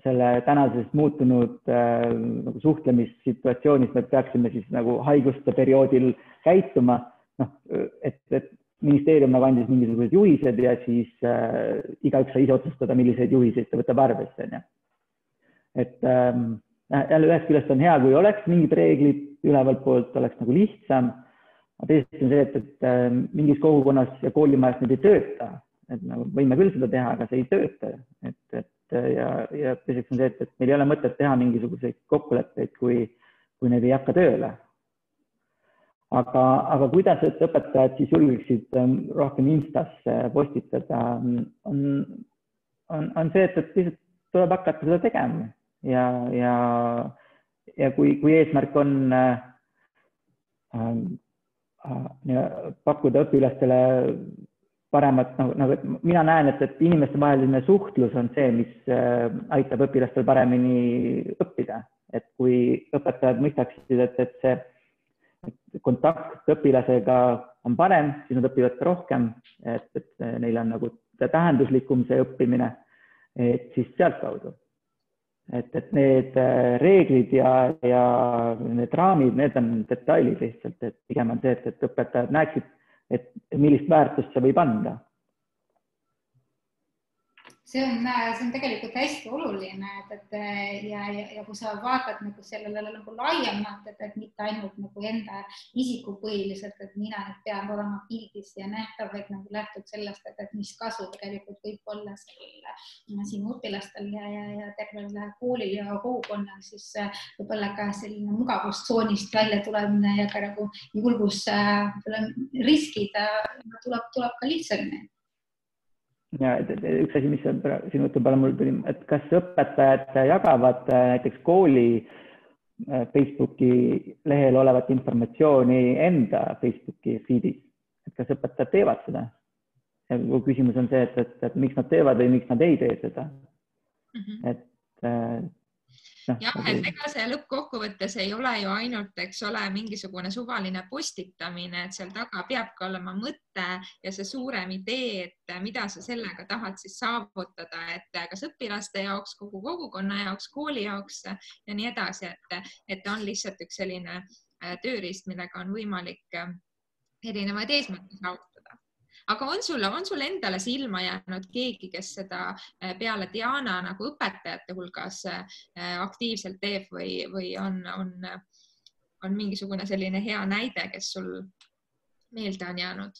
selle tänases muutunud nagu suhlemissituatsioonis me peaksime siis nagu haiguste perioodil käituma, et ministeerium nagu andis mingisugused juhised ja siis igaüks sai ise otsustada, milliseid juhiseid ta võtab arvesse. Et jälle ühest küljest on hea, kui oleks mingid reeglid ülevalt poolt, oleks nagu lihtsam. Teisest on see, et mingis kogukonnas ja koolimajas need ei tööta. Et nagu võime küll seda teha, aga see ei tööta. Ja teiseks on see, et meil ei ole mõtet teha mingisuguseid kokkuleppeid, kui need ei hakka tööle. Aga kuidas õpetajad siis julgeksid rohkem Instasse postitada, on see, et lihtsalt tuleb hakata seda tegema. Ja kui eesmärk on pakkuda õpilastele paremat, nagu mina näen, et inimeste vaheline suhtlus on see, mis aitab õpilastel paremini õppida. Et kui õpetajad mõistaksid, et see kontakt õpilasega on parem, siis nad õpivad ka rohkem, et neil on nagu tähenduslikum see õppimine, et siis sealt kaudu. Et need reeglid ja need raamid, need on detailid lihtsalt, et pigem on see, et õpetajad näeksid, et millist väärtust see võib anda. See on tegelikult hästi oluline, ja kui sa vaatad nagu sellele nagu laiemalt, et mitte ainult nagu enda isikupõhiliselt, et mina pean olema pildis ja nähtav, vaid nagu lähtub sellest, et mis kasu tegelikult võib olla sinu õpilastel ja tervel koolil ja kogukonnal, siis võib-olla ka selline mugavustsoonist välja tulemine ja ka nagu julgus riskid tuleb ka lihtsamini. Ja üks asi, mis sinu jutu peale mul tuli, et kas õpetajad jagavad näiteks kooli Facebooki lehel olevat informatsiooni enda Facebooki feedis, et kas õpetajad teevad seda? Ja küsimus on see, et miks nad teevad või miks nad ei tee seda. Jah, et ega see lõppkokkuvõttes ei ole ju ainult, eks ole, mingisugune suvaline postitamine, et seal taga peab ka olema mõte ja see suurem idee, et mida sa sellega tahad siis saavutada, et kas õpilaste jaoks, kogu kogukonna jaoks, kooli jaoks ja nii edasi, et on lihtsalt üks selline tööriist, millega on võimalik erinevaid eesmärke saavutada. Aga on sul endale silma jäänud keegi, kes seda peale Diana nagu õpetajate hulgas aktiivselt teeb või on mingisugune selline hea näide, kes sul meelde on jäänud?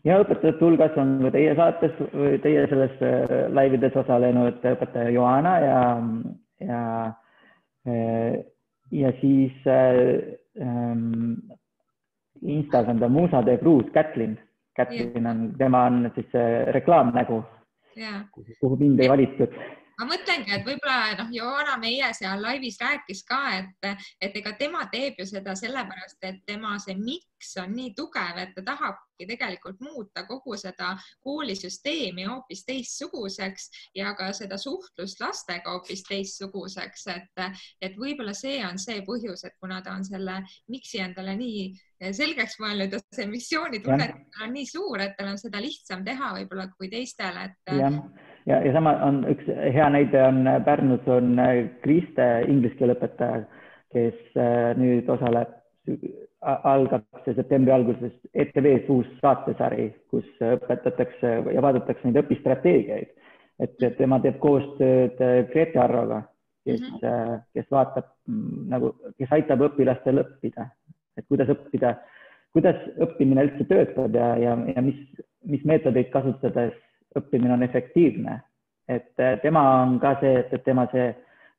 Ja õpetajate hulgas on ka teie saates või teie selles laivides osalenud õpetaja Joana ja siis Instas on ta Musa de Cruz, Kätlin, tema on siis reklaamnägu, kuhu mind ei valitud. ma mõtlengi, et võib-olla Joana meie seal laivis rääkis ka, et ega tema teeb ju seda sellepärast, et tema see miks on nii tugev, et ta tahabki tegelikult muuta kogu seda koolisüsteemi hoopis teistsuguseks ja ka seda suhtlust lastega hoopis teistsuguseks, et võib-olla see on see põhjus, et kuna ta on selle miksi endale nii selgeks mõelnud ja see missioonitunne on nii suur, et tal on seda lihtsam teha võib-olla kui teistel. Ja sama on üks hea näide on Pärnus on Kriste inglise keele õpetaja, kes nüüd algab see septembri alguses ETV-s uus saatesari, kus õpetatakse ja vaadatakse neid õpistrateegiaid. Et tema teeb koostööd Grete Arroga, kes vaatab kes aitab õpilastel õppida. Et kuidas õppimine üldse töötab ja mis meetodeid kasutades õppimine on efektiivne. Et tema on ka see, et tema see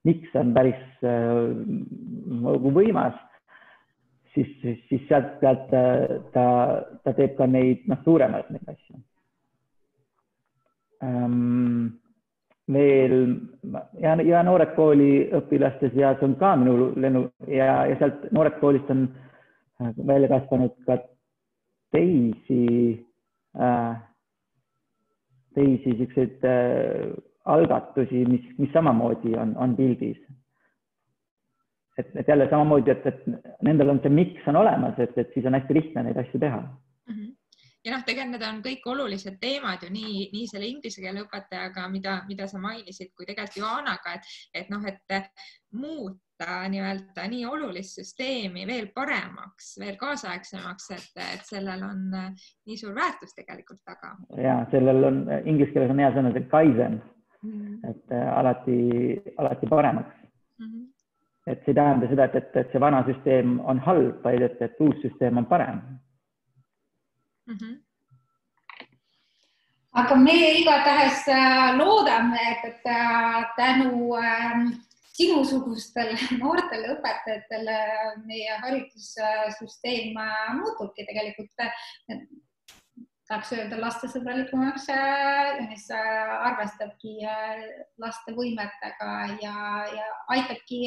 miks on päris võimas, siis sealt pealt ta teeb ka neid suuremaid neid asju. Veel ja Noored Kooli õpilaste seas on ka minu lennu ja sealt Noored Koolist on välja kasvanud ka teisi selliseid algatusi, mis samamoodi on pildis. Et jälle samamoodi, et nendel on see miks on olemas, et siis on hästi lihtne neid asju teha. Ja tegelikult need on kõik olulised teemad ju nii selle inglise keele õpetajaga, mida sa mainisid, kui tegelikult Joanaga, et muuta nii olulist süsteemi veel paremaks, veel kaasaegsemaks, et sellel on nii suur väärtus tegelikult taga. Ja sellel on, inglise keeles on hea sõna, see kaizen, et alati paremaks. Et see tähendab seda, et see vana süsteem on halb, vaid et uus süsteem on parem. Aga me igatahes loodame, et tänu sinusugustele noortele õpetajatele meie haridussüsteem muutubki tegelikult, tahaks öelda lastesõbralikumaks, mis arvestabki laste võimetega ja aitabki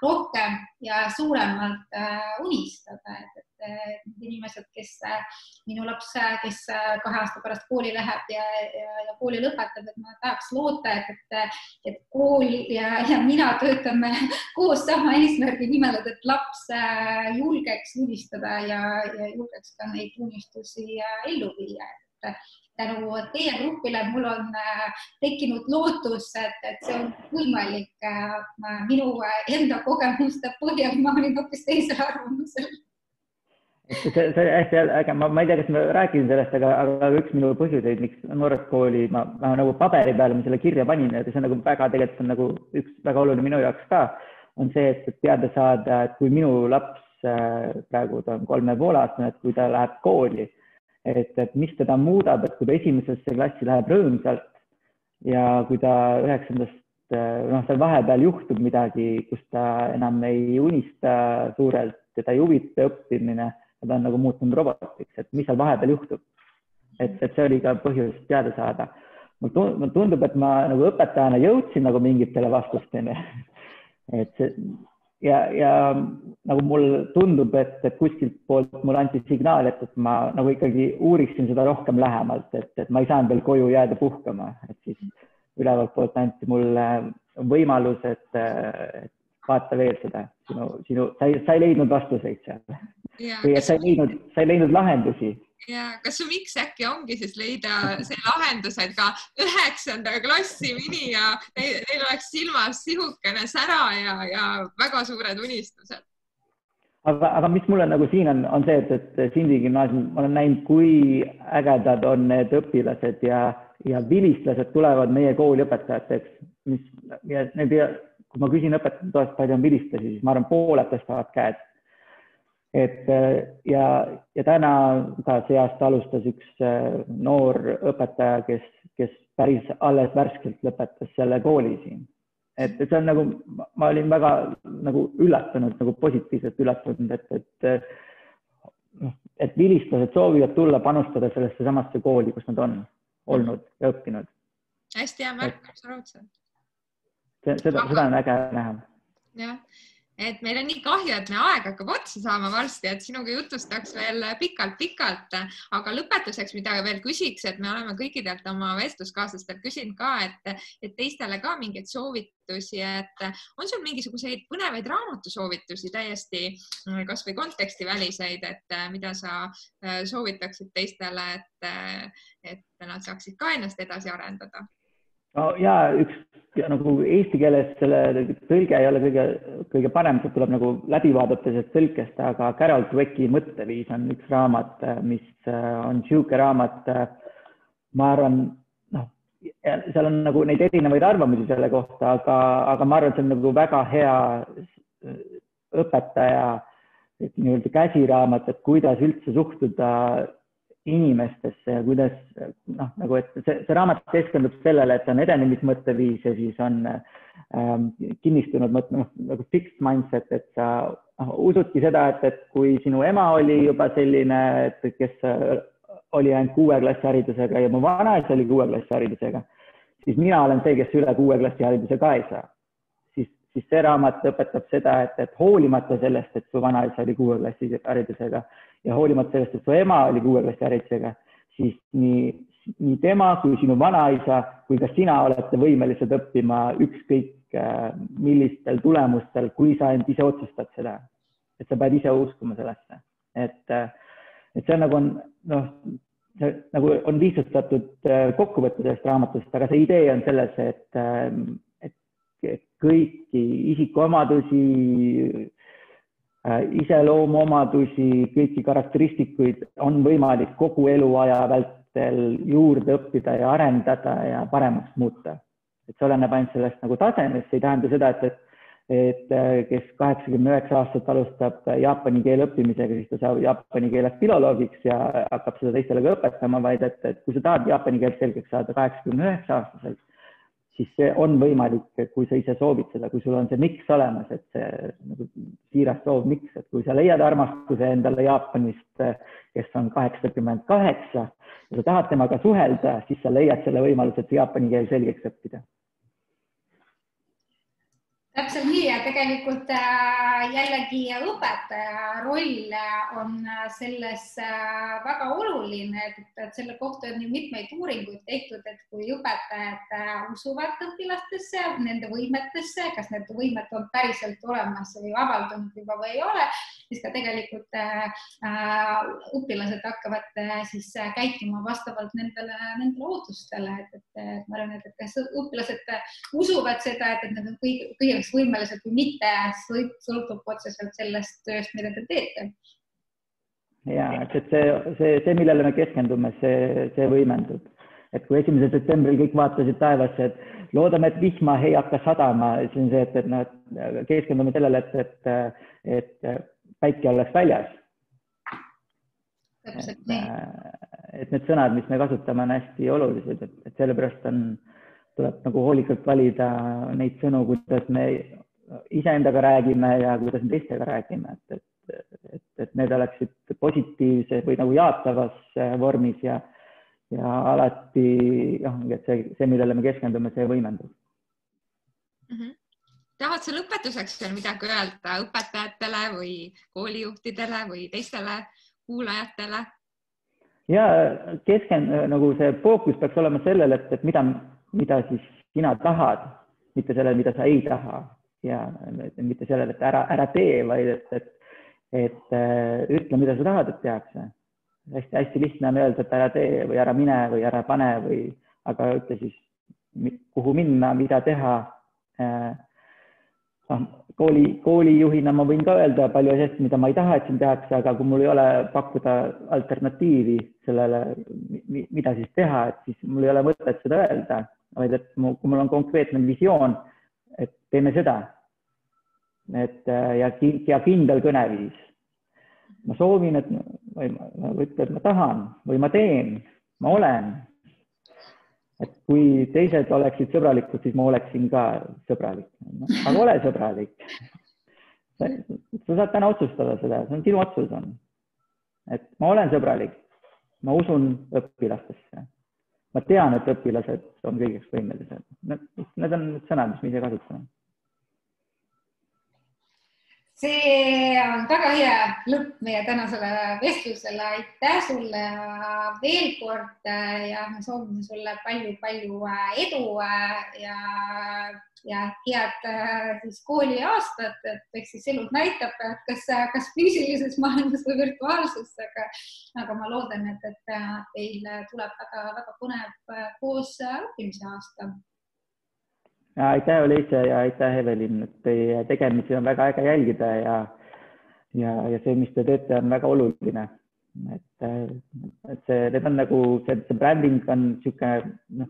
rohkem ja suuremalt unistada. Et inimesed, minu laps, kes 2 aasta pärast kooli läheb ja kooli lõpetab, et ma tahaks loota, et kool ja mina töötame koos sama eesmärgi nimel, et laps julgeks unistada ja julgeks ka neid unistusi ellu viia. Tänu teie grupile mul on tekkinud lootus, et see on võimalik. Minu enda kogemuste põhjal ma olin hoopis teisel arvamusel. See hästi äge, ma ei tea, kas ma rääkisin sellest, aga üks minu põhjuseid, miks Noored Kooli ma nagu paberi peale selle kirja panin, et see on väga tegelikult on nagu üks väga oluline minu jaoks ka, on see, et teada saada, et kui minu laps praegu ta on 3,5-aastane, et kui ta läheb kooli, et mis teda muudab, et kui ta esimesesse klassi läheb rõõmsalt ja kui ta 9. seal vahepeal juhtub midagi, kus ta enam ei unista suurelt, teda ei huvita õppimine, ta on nagu muutunud robotiks, et mis seal vahepeal juhtub. Et see oli ka põhjus teada saada. Mulle tundub, et ma nagu õpetajana jõudsin nagu mingitele vastustele. Ja nagu mulle tundub, et kuskilt poolt mulle anti signaal, et ma nagu ikkagi uuriksin seda rohkem lähemalt, et ma ei saanud veel koju jääda puhkama. Et siis ülevalt poolt anti mulle võimalus, et vaata veel seda. Sa ei leidnud vastuseid seal. Või et sa ei leidnud lahendusi. Ja kas su miks äkki ongi siis leida see lahendus, et ka 9. klassi mini ja neil oleks silmas sihukene sära ja väga suured unistused? Aga mis mulle nagu siin on see, et Sindi gümnaasium, ma olen näinud, kui ägedad on need õpilased ja vilistlased tulevad meie kooli õpetajateks. Kui ma küsin õpetajate toest, palju on vilistlasi, siis ma arvan, pooled tõstavad käed. Ja täna ka see aasta alustas üks noor õpetaja, kes päris alles värskelt lõpetas selle kooli siin. Et see on nagu, ma olin väga nagu üllatunud, nagu positiivselt üllatunud, et vilistlased soovivad tulla panustada sellesse samasse kooli, kus nad on olnud ja õppinud. hästi hea märk, absoluutselt. Seda on äge näha. Jah, et meil on nii kahju, et me aeg hakkab otsa saama varsti, et sinuga jutustaks veel pikalt, aga lõpetuseks, mida veel küsiks, et me oleme kõikidelt oma vestluskaaslastelt küsinud ka, et teistele ka mingeid soovitusi, et on sul mingisuguseid põnevaid raamatusoovitusi täiesti kas või kontekstiväliseid, et mida sa soovitaksid teistele, et nad saaksid ka ennast edasi arendada? No, ja üks nagu eesti keeles selle tõlge ei ole kõige parem, see tuleb nagu läbi vaadata sellest tõlkest, aga Carol Dwecki Mõtteviis on üks raamat, mis on siuke raamat, ma arvan, seal on nagu neid erinevaid arvamusi selle kohta, aga ma arvan, see on nagu väga hea õpetaja nii-öelda käsiraamat, et kuidas üldse suhtuda inimestesse ja kuidas nagu, et see raamat keskendub sellele, et on edenemismõtteviis ja siis on kinnistunud nagu fixed mindset, et sa usudki seda, et kui sinu ema oli juba selline, et kes oli ainult 6. klassi haridusega ja mu vanaisa oli 6. klassi haridusega, siis mina olen see, kes üle 6. klassi hariduse ka ei saa. Siis see raamat õpetab seda, et hoolimata sellest, et su vanaisa oli 6. klassi haridusega ja hoolimata sellest, et su ema oli 6. klassi haridusega, siis nii tema kui sinu vanaisa kui ka sina olete võimelised õppima ükskõik millistel tulemustel, kui sa end ise otsustad seda. Et sa pead ise uskuma sellesse. Et see nagu nagu on lihtsustatud kokkuvõtte sellest raamatust, aga see idee on selles, et kõiki isikuomadusi, iseloomuomadusi, kõiki karakteristikuid on võimalik kogu eluaja vältel juurde õppida ja arendada ja paremaks muuta. Et see oleneb ainult sellest nagu tasemest, see ei tähenda seda, et kes 89 aastat alustab jaapani keele õppimisega, siis ta saab jaapani keele filoloogiks ja hakkab seda teistele ka õpetama, vaid et kui sa tahad jaapani keelt selgeks saada 89 aastaselt, siis see on võimalik, kui sa ise soovid seda, kui sul on see miks olemas, et see nagu siiras soov miks, et kui sa leiad armastuse endale Jaapanist, kes on 88 ja sa tahad temaga suhelda, siis sa leiad selle võimaluse, et jaapani keel selgeks õppida. Täpselt nii ja tegelikult jällegi õpetaja roll on selles väga oluline, et selle kohta on ju mitmeid uuringuid tehtud, et kui õpetajad usuvad õpilastesse, nende võimetesse, kas need võimed on päriselt olemas või avaldunud juba või ei ole, siis ka tegelikult õpilased hakkavad siis käituma vastavalt nendele ootustele, et ma arvan, et kas õpilased usuvad seda, et nad on kõige võimelised või mitte, sõltub otseselt sellest tööst, mida te teete. Ja, et see, millele me keskendume, see võimendub. Et kui 1. septembril kõik vaatasid taevasse, et loodame, et vihma ei hakka sadama, siis on see, et nad keskendume sellele, et päike oleks väljas. Et need sõnad, mis me kasutame, on hästi olulised, et sellepärast tuleb nagu hoolikalt valida neid sõnu, kuidas me iseendaga räägime ja kuidas me teistega räägime, et need oleksid positiivse või nagu jaatavas vormis ja alati, et see, millele me keskendume, see võimendub. Tahad sa lõpetuseks veel midagi öelda õpetajatele või koolijuhtidele või teistele kuulajatele? Ja nagu see fookus peaks olema sellele, et mida siis sina tahad, mitte sellele, mida sa ei taha ja mitte sellele, et ära tee, vaid et ütle, mida sa tahad, et tehakse. Hästi lihtne on öelda, et ära tee või ära mine või ära pane aga ütle siis, kuhu minna, mida teha. Koolijuhina ma võin ka öelda palju asjast, mida ma ei taha, et siin tehakse, aga kui mul ei ole pakkuda alternatiivi sellele, mida siis teha, et siis mul ei ole mõtet seda öelda, vaid et kui mul on konkreetne visioon, et teeme seda ja kindel kõneviis. Ma soovin, et ma tahan või ma teen, ma olen. Et kui teised oleksid sõbralikud, siis ma oleksin ka sõbralik. Aga ole sõbralik. Sa saad täna otsustada seda, see on sinu otsus on. Et ma olen sõbralik, ma usun õpilastesse, ma tean, et õpilased on kõigeks võimelised. Need on need sõnad, mis me ise kasutame. See on väga hea lõpp meie tänasele vestlusele. Aitäh sulle veel kord ja me soovime sulle palju edu ja head siis kooliaastat, et eks siis elud näitab, kas füüsilises maailmas või virtuaalses, aga ma loodan, et teil tuleb väga põnev koos õppimise aasta. Aitäh, Olesja, ja aitäh, Evelin, et teie tegemisi on väga äge jälgida ja see, mis te teete, on väga oluline. Et need on nagu, see bränding on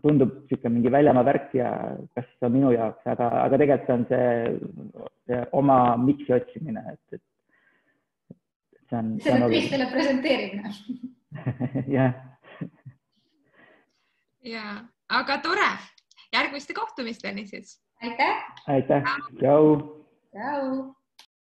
tundub mingi väljamaa värk ja kas see on minu jaoks, aga tegelikult on see oma miksi otsimine. See on teistele presenteerimine. Ja, aga tore. Järgmiste kohtumisteni siis. Aitäh. Aitäh. Tšau. Tšau.